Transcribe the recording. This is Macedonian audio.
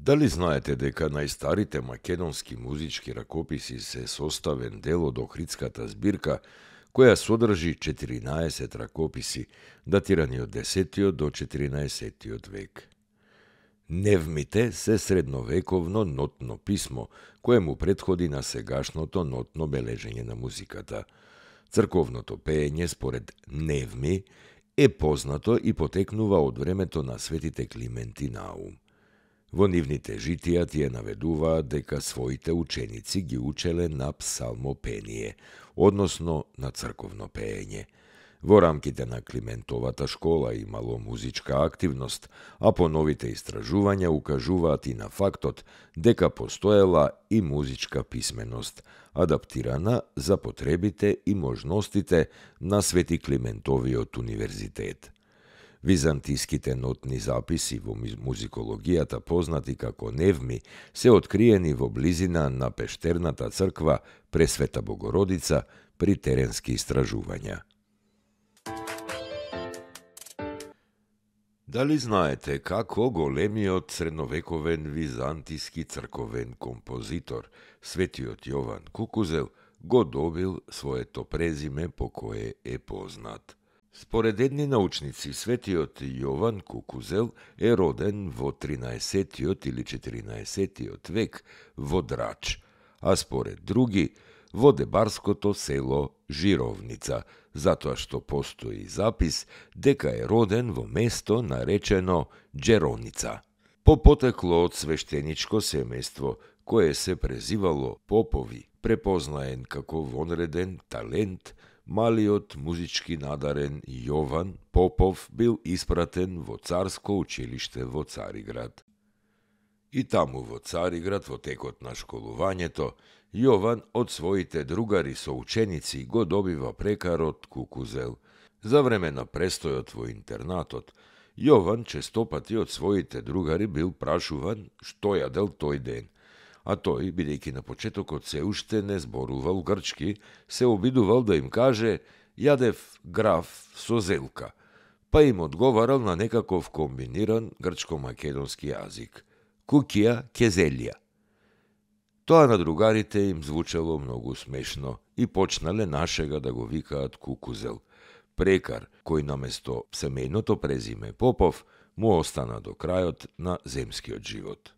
Дали знаете дека најстарите македонски музички ракописи се составен дел од Охридската збирка, која содржи 14 ракописи, датирани од 10 до 14 век. Невмите се средновековно нотно писмо, кое му претходи на сегашното нотно бележење на музиката. Црковното пеење според Невми е познато и потекнува од времето на светите Климент и Наум. Во нивните житија тие наведуваат дека своите ученици ги учеле на псалмопение, односно на црковно пеење. Во рамките на Климентовата школа имало музичка активност, а по новите истражувања укажуваат и на фактот дека постоела и музичка писменост, адаптирана за потребите и можностите на Свети Климентовиот универзитет. Византиските нотни записи во музикологијата, познати како Невми, се откриени во близина на пештерната црква Пресвета Богородица при теренски истражувања. Дали знаете како големиот средновековен византиски црковен композитор, светиот Јован Кукузел, го добил своето презиме по кое е познат? Според едни научници, светиот Јован Кукузел е роден во 13 или 14 век во Драч, а според други во дебарското село Жировница, затоа што постои запис дека е роден во место наречено Джероница. По потекло од свештеничко семејство, кое се презивало Попови, препознаен како вонреден талент, малиот музички надарен Јован Попов бил испратен во царско училиште во Цариград. И таму во Цариград, во текот на школувањето, Јован од своите другари соученици го добива прекарот Кукузел. За време на престојот во интернатот, Јован честопати од своите другари бил прашуван што јадел тој ден, а тој, бидејќи на почетокот се уште не зборувал грчки, се обидувал да им каже «Јадев граф со зелка», па им одговарал на некаков комбиниран грчко-македонски јазик – «Кукија кезелија». Тоа на другарите им звучало многу смешно и почнале нашега да го викаат Кукузел. Прекар, кој наместо семејното презиме Попов, му остана до крајот на земскиот живот.